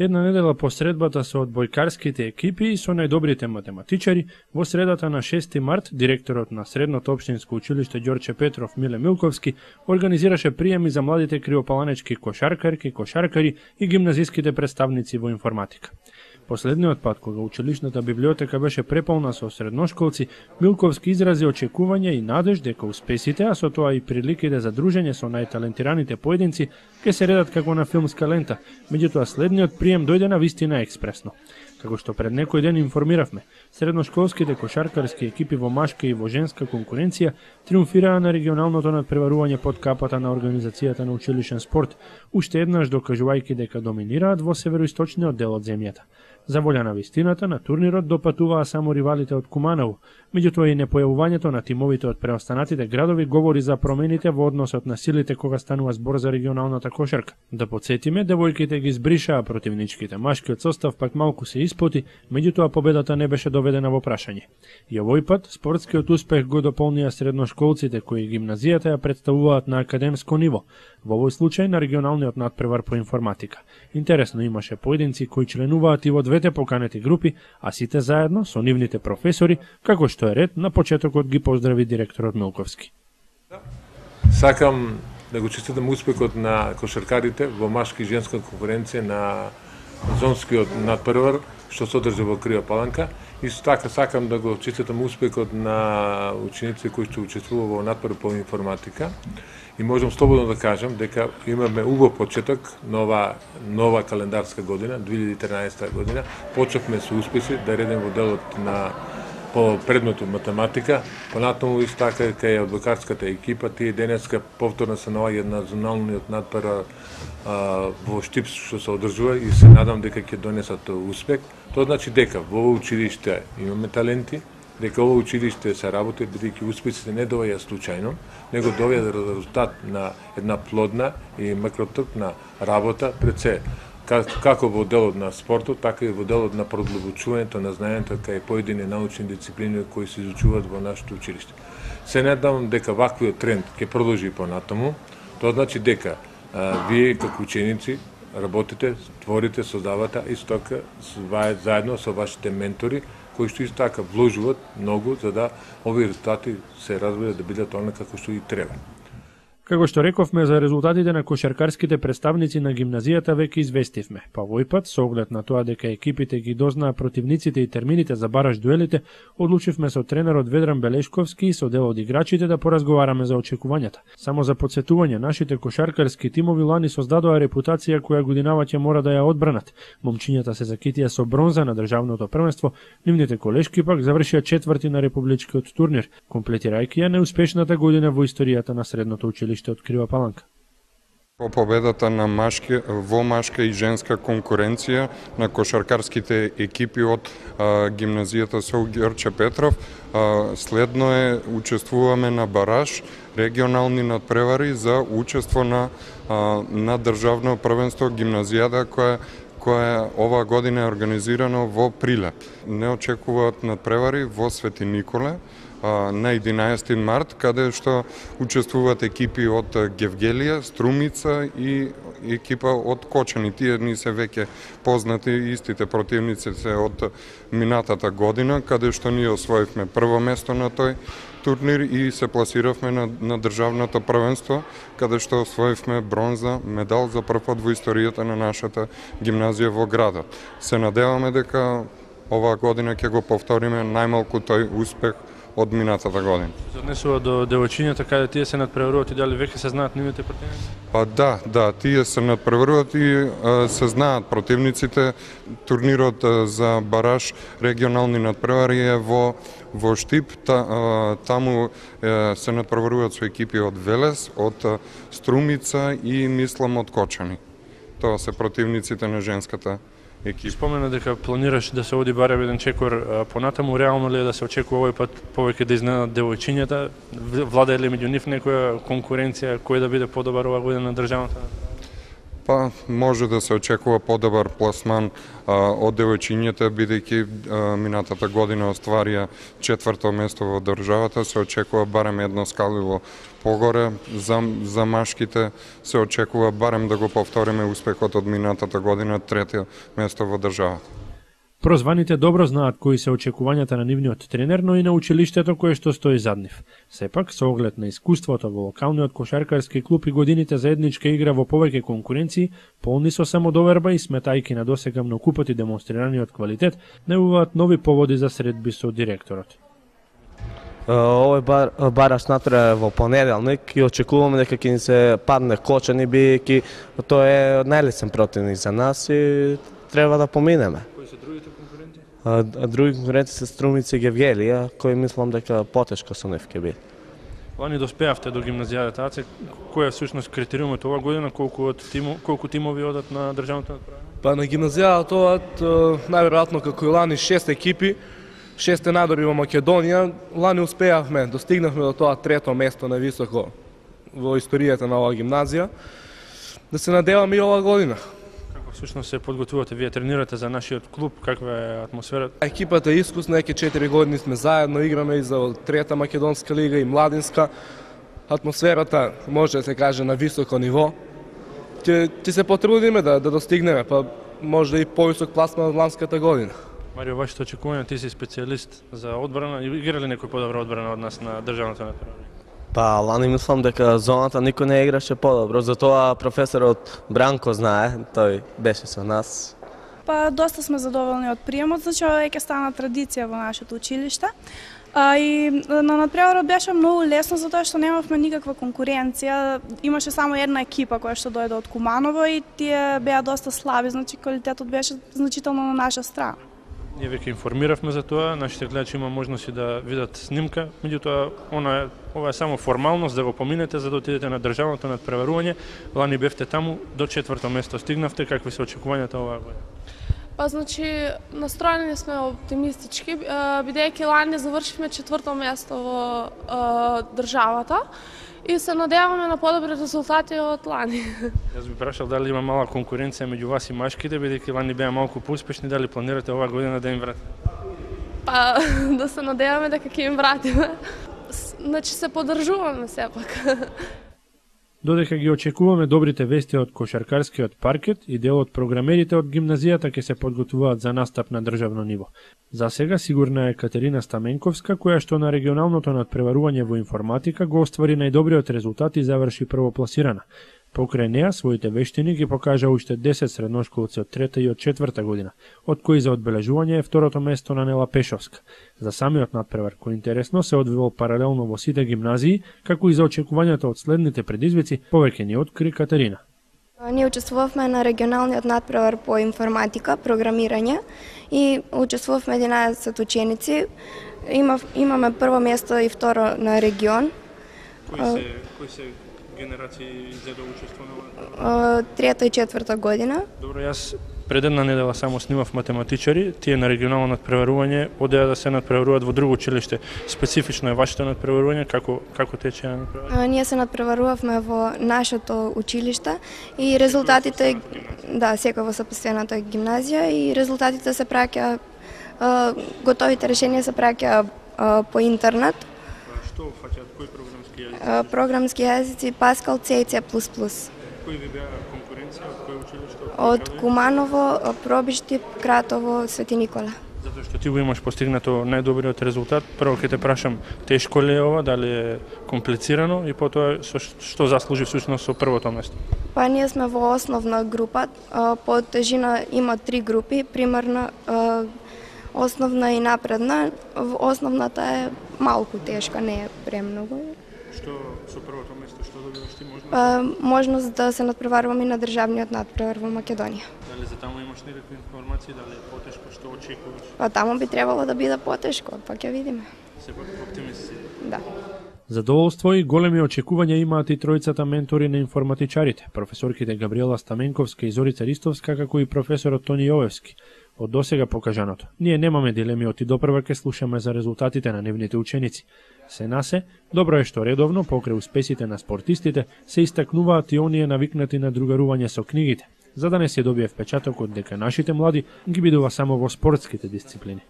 Една недела по средбата со одбојкарските екипи и со најдобрите математичари, во средата на 6 март, директорот на Средното општинско училиште Ѓорче Петров Миле Милковски организираше приеми за младите криопаланечки кошаркари и гимназиските представници во информатика. Последниот пат, кога училишната библиотека беше преполна со средношколци, Милковски изрази очекување и надеж дека успесите, а со тоа и приликите за дружење со најталентираните поединци, ќе се редат како на филмска лента, меѓутоа следниот прием дојде на вистина експресно. Како што пред некој ден информиравме, средношколските кошаркарски екипи во машка и во женска конкуренција триумфираа на регионалното надпреварување под капата на организацијата на училишен спорт, уште еднаш докажувајќи дека доминираат во североисточниот дел од земјата. За волја на вистината, на турнирот допатуваа само ривалите од Куманово, меѓутоа и непојавувањето на тимовите од преостанатите градови говори за промените во односот на силите кога станува збор за регионалната кошарка. Да подсетиме, девојките ги збришаа противничките, машкиот состав пак малку се испоти, меѓутоа победата не беше доведена во прашање. И овој пат спортскиот успех го дополнија средношколците кои гимназијата ја представуваат на академско ниво, во овој случај на регионалниот надпревар по информатика. Интересно, имаше поединци кои членуваат и во двете поканети групи, а сите заедно со нивните професори, како што е ред, на почетокот ги поздрави директорот Милковски. Сакам да го честитам успехот на кошаркарите во машка и женска конкуренција на зонскиот надпревар што се одржа во Криопаланка. Исто така сакам да го честитам успехот на ученици кои што учествува во надпревар по информатика. И можам слободно да кажам дека имаме убав почеток нова календарска година, 2013 година. Почнавме со успеси да редем во делот на по предметот математика, понатаму исто така кај одбојкарската екипа, тие денеска повторно се наоѓаат на зоналниот надпревар во Штип што се одржува и се надам дека ќе донесат успех. Тоа значи дека во училиште имаме таленти, дека ово училиште се работи, бидејќи успесите не доаѓаат случајно, него доаѓаат резултат на една плодна и макротрпна работа пред се, како во делот на спортот, така и во делот на продлабочувањето на знаењето кај поедини научни дисциплини кои се изучуваат во нашето училиште. Се надевам дека ваквиот тренд ќе продолжи понатаму. Тоа значи дека вие како ученици работите, творите, создавате исто така заедно со вашите ментори кои што исто така вложуваат многу за да овие резултати се развијат да бидат онака како што и треба. Како што рековме за резултатите на кошаркарските представници на гимназијата веќе известивме, па овој пат со оглед на тоа дека екипите ги дознаа противниците и термините за бараш дуелите, одлучивме со тренерот Ведран Белешковски и со дел од играчите да поразговараме за очекувањата. Само за потсетување, нашите кошаркарски тимови лани создадоа репутација која годинава ќе мора да ја одбранат. Момчињата се закитија со бронза на државното првенство, нивните колешки пак завршија четврти на републичкиот турнир, комплетирајќи ја неуспешната година во историјата на средното училиште од Кривопаланка. По победата на машка и женска конкуренција на кошаркарските екипи од гимназијата со Ѓорче Петров, следно е учествуваме на бараш регионални надпревари за учество на државно првенство гимназијата која ова година е организирано во Прилеп. Не очекуваат надпревари во Свети Николе на 11 март, каде што учествуваат екипи од Гевгелија, Струмица и екипа од Кочани. Тие ни се веќе познати, истите противници се од минатата година, каде што ние освоивме прво место на тој турнир и се пласиравме на државното првенство, каде што освоивме бронза медал за прв пат во историјата на нашата гимназија во градот. Се надеваме дека оваа година ќе го повториме најмалку тој успех од минатата година. Се однесува до девојчињата каде тие се надпреваруваат и дали веќе се знаат нивните противници? Да, тие се надпреваруваат и се знаат противниците. Турнирот за бараш регионални надпревари е во Штип, таму се надпреваруваат со екипи од Велес, од Струмица и мислам од Кочани. Тоа се противниците на женската екипа. Спомена дека планираш да се оди барем еден чекор понатаму, реално ли е да се очекува овој пат повеќе да изненадат девојчињата? Влада ли меѓу нив некоја конкуренција кој да биде подобар оваа година на државната? Па може да се очекува подобар пласман од девојчињата, бидејќи минатата година остварија 4-то место во државата, се очекува барем едно скаливо погоре. За машките се очекува барем да го повториме успехот од минатата година, 3-то место во државата. Прозваните добро знаат кои се очекувањата на нивниот тренер, но и на училиштето кое што стои зад нив. Сепак, со оглед на искуството во локалниот кошаркарски клуб и годините заедничка игра во повеќе конкуренции, полни со самодоверба и сметајки на досега многу пати демонстрираниот квалитет, најавуваат нови поводи за средби со директорот. Овој бараш натре во понеделник и очекуваме дека ќе ни се падне Кочани, бидејќи тоа е најлесен противник за нас и треба да поминеме. Кои се другите конкуренти? Други конкуренти се Струмица и Гевгелија, кои мислам дека потешко со нив ќе биде. Лани доспеавте до гимназијата АЦ. Кој е всушност критериумот оваа година, колку тимови одат на државното надпреварување? Па на гимназијата одат најверојатно како и лани 6 екипи, 6 надори во Македонија. Лани успеавме, достигнавме до тоа 3-то место највисоко во историјата на оваа гимназија. Да се надеваме и оваа година. Всушност се подготвувате, вие тренирате за нашиот клуб, каква е атмосферата? Екипата е искусна, еќе 4 години сме заедно, играме и за трета македонска лига и младинска. Атмосферата може да се каже на високо ниво. Ќе се потрудиме да достигнеме, па може и повисок пласман од ланската година. Марио, вашето очекување, ти си специјалист за одбрана, игра ли некој подобра одбрана од нас на државното надпреварување? Па, лани мислам дека зоната никој не играше подобро, затоа професорот Бранко знае, тој беше со нас. Па, доста сме задоволни од приемот, значи ова ќе стана традиција во нашето училиште. И на надпреварот беше многу лесно затоа што немавме никаква конкуренција. Имаше само една екипа која што дојде од Куманово и тие беа доста слаби, значи квалитетот беше значително на наша страна. Ние веќе информиравме за тоа, нашите гледачи има можности да видат снимка, меѓутоа ова е само формалност да го поминете за да отидете на државното надпреварување. Лани бевте таму, до 4-то место стигнавте, какви се очекувањата оваа година? Па значи настроени сме оптимистички, бидејќи лани завршивме 4-то место во државата и се надеваме на подобри резултати од лани. Јас би прашал дали има мала конкуренција меѓу вас и машките, бидејќи лани беа малку поуспешни, дали планирате оваа година да им вратите? Па да се надеваме дека ќе им вратиме. Значи се поддржуваме сепак. Додека ги очекуваме добрите вести од кошаркарскиот паркет и дел од програмерите од гимназијата ќе се подготвуваат за настап на државно ниво. За сега сигурна е Катерина Стаменковска, која што на регионалното надпреварување во информатика го оствари најдобриот резултат и заврши првопласирана. Покрај неа, своите вештини ги покажа уште 10 средношколци од 3-та и од 4-та година, од кои за одбележување е второто место на Нела Пешовска. За самиот надпревар, кој интересно се одвивал паралелно во сите гимназии, како и за очекувањата од следните предизвици, повеќе ни откри Катерина. Ние учествувавме на регионалниот надпревар по информатика, програмирање и учествувавме 11 ученици. Имаме прво место и второ на регион. Кои се генерации за да учествува? 3-та и 4-та година. Добро, јас пред една недела само снимав математичари, тие на регионално надпреварување одеа да се надпреваруваат во друго училиште. Специфично е вашето надпреварување, како тече надпреварување? Ние се надпреварувавме во нашето училиште и резултатите, да, секој во сопствената гимназија и резултатите се праќа, готовите решенија се праќа по интернет. Што фаќаат, кои програмски јазици? Програмски јазици Pascal, C и C++. Кои ви беа конкуренција, од кој училиште? Од Куманово, Пробишти, Кратово, Свети Никола. Затоа што ти го имаш постигнато најдобриот резултат, прво ќе те прашам, тешко ли е ова, дали е комплицирано и потоа што заслужи всушност со првото место? Па ние сме во основна група, по тежина има 3 групи, примерно основна и напредна. Основната е малку тешка, не е премногу. Што со првото место, што добиваш ти можност? Можност да се надпреваруваме на државниот надпревар во Македонија. Дали за таму имаш некакви информации, дали е потешко, што очекуваш? Па таму би требало да биде потешко, па ќе видиме. Сепак оптимист си. Да. Задоволство и големи очекувања имаат и тројцата ментори на информатичарите, професорките Габриела Стаменковска и Зорица Ристовска, како и професорот Тони Јовевски. Од досега покажаното. Ние немаме дилеми, оти допрва ќе слушаме за резултатите на нивните ученици. Се на се, добро е што редовно, покрај успесите на спортистите, се истакнуваат и оние навикнати на другарување со книгите, за да не се добие впечатокот дека нашите млади ги бидува само во спортските дисциплини.